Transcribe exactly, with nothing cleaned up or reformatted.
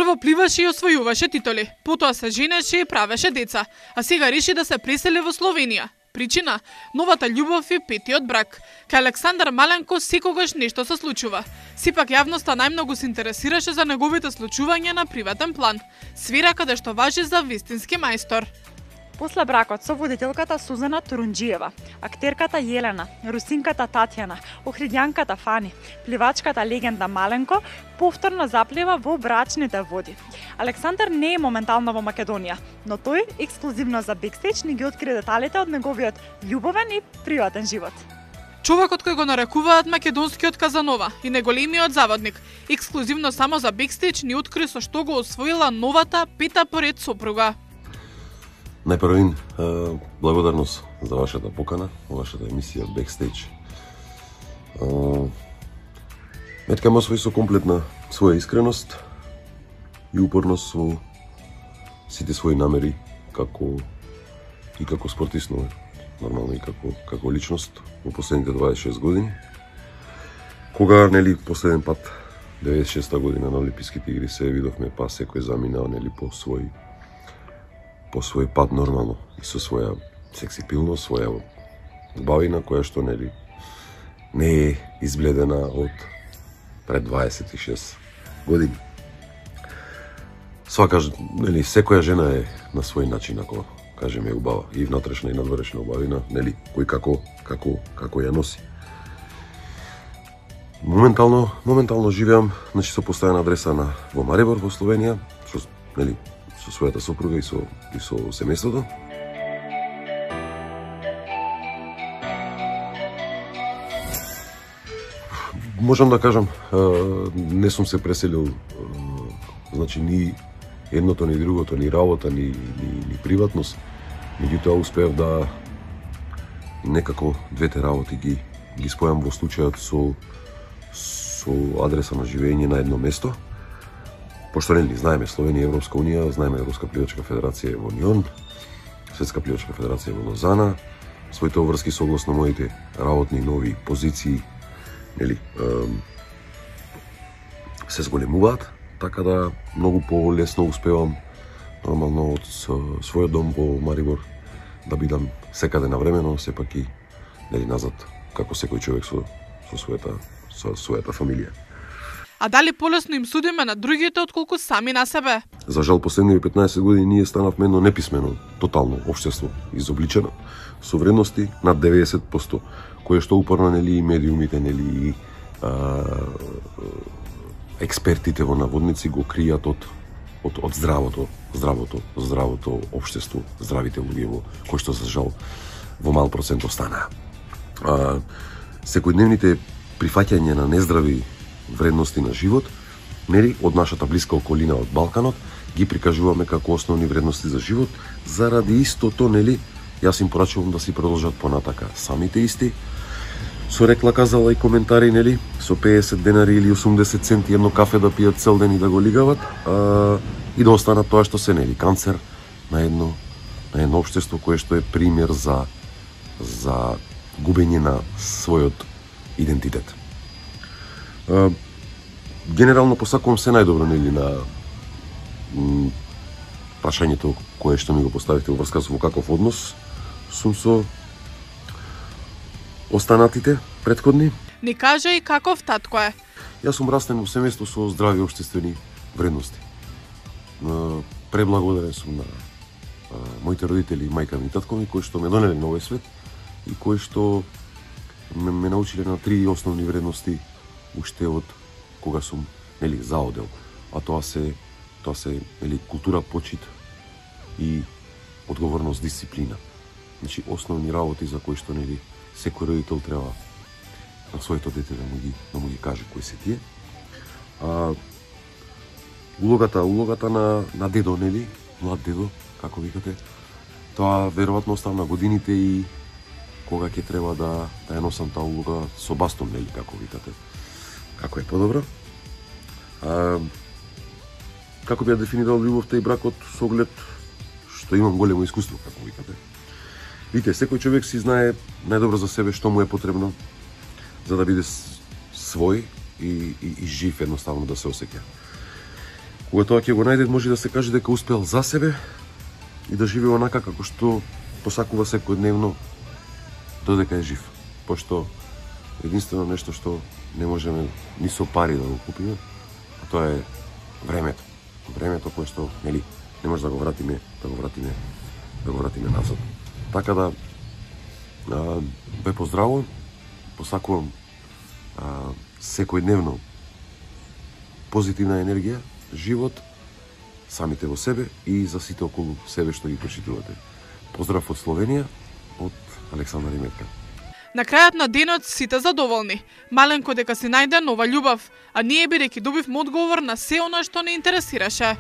Прво пливаше и освојуваше титули, потоа се женеше и правеше деца, а сега реши да се пресели во Словенија. Причина – новата љубов и петиот брак. Кај Александар Маленко секогаш нешто се случува. Сепак јавноста најмногу се интересираше за неговите случувања на приватен план, сфера каде што важи за вистински мајстор. После бракот со водителката Сузана Турунџиева, актерката Јелена, русинката Татјана, охридјанката Фани, пливачката легенда Маленко повторно заплива во брачните води. Александар не е моментално во Македонија, но тој ексклузивно за Бекстејдж ни ги откри деталите од неговиот љубовен и приватен живот. Човекот кој го нарекуваат македонскиот Казанова и неголемиот заводник, ексклузивно само за Бекстејдж ни откри со што го освоила новата пета поред сопруга. Најпрвин, благодарност за вашата покана, вашата емисија Бекстејдж. Метка ме освои со комплетна своја искреност и упорност со сите своји намери како и како спортист, но нормално и како како личност во последните дваесет и шест години. Кога нели последен пат деветдесет и шеста година на Олимписките игри се видовме, па секој заминал нели по свој по свој пат нормално и со своја сексипилност, своја убавина која што нели не е избледена од пред дваесет и шест години. Свака нели секоја жена е на свој начин, ако кажеме, убава и внатрешна и надворешна убавина, нели кој како како како ја носи. Моментално моментално живеам, значи со постојана адреса на во Марибор во Словенија, со нели со својата сопруга и со и со семејството. Можам да кажам, не сум се преселил, значи ни едното, ни другото, ни работа, ни, ни, ни приватност. Меѓутоа успеав да некако двете работи ги ги спојам во случајот со со адреса на живење на едно место. Пошто нели знаеме Словенија, Европска унија, знаеме Европска пливачка федерација во Нион, Светска пливачка федерација во Лозана, своите обврски согласно моите работни нови позиции, нели, се зголемуваат, така да многу полесно успевам нормално од својот дом во Марибор да бидам секаде навремено, сепак и нели назад како секој човек со со својата со својата фамилија. А дали полесно им судиме на другите отколку сами на себе? За жал последниве петнаесет години ние станавме едно неписмено, тотално општество, изобличено, со вредности над деветдесет проценти, кое што упорно нели и медиумите, нели и а, експертите во наводници го кријат од од од здравото, здравото, здравото општество, здравите луѓе во кои што за жал во мал процент останаа. А, секојдневните прифаќање на нездрави вредности на живот, нели од нашата блиска околина од Балканот, ги прикажуваме како основни вредности за живот, заради истото, нели, јас им порачувам да си продолжат понатака самите исти, со рекла казала и коментари, нели, со пеесет денари или осумдесет центи едно кафе да пијат цел ден и да го лигават, а, и да останат тоа што се, нели, канцер на едно на едно општество кое што е пример за за губење на својот идентитет. Uh, генерално посакувам се најдобро, нели, на м, прашањето кое што ми го поставите во врска со во каков однос сум со останатите претходни. Ни кажа и каков татко е. Јас сум растен во семејство со здрави општествени вредности. Uh, преблагодарен сум на uh, моите родители, мајка ми и татко ми, кои што ме донеле на овој свет и кои што ме, ме научиле на три основни вредности уште од кога сум, нели, заодел, а тоа се тоа се, нели, култура, почит и одговорност, дисциплина. Значи основни работи за кои што, нели, секој родител треба на своето дете да му ги да му ги каже кои се тие. А улогата, улогата на на дедо, нели, млад дедо, како викате, тоа веројатно остава на годините и кога ќе треба да да ја носам таа улога со бастон, нели, како викате. Како е подобро. А, како би ја дефинирал љубовта и бракот со оглед што имам големо искуство, како викате. Видите, секој човек си знае најдобро за себе што му е потребно за да биде свој и, и, и жив едноставно да се осеќа. Кога тоа ќе го најде, може да се каже дека успел за себе и да живее онака како што посакува секојдневно додека е жив. Пошто единствено нешто што не можеме ни со пари да го купиме, а тоа е времето. Времето кое што, нели, не може да го вратиме, да го вратиме, да го вратиме назад. Така да а, ве поздравувам, посакувам а, секојдневно позитивна енергија, живот, самите во себе и за сите околу себе што ги почитувате. Поздрав од Словенија, од Александар и Метка. На крајот на денот сите задоволни. Маленко дека си најде нова љубов, а ние бидејќи добивме одговор на се она што не интересираше.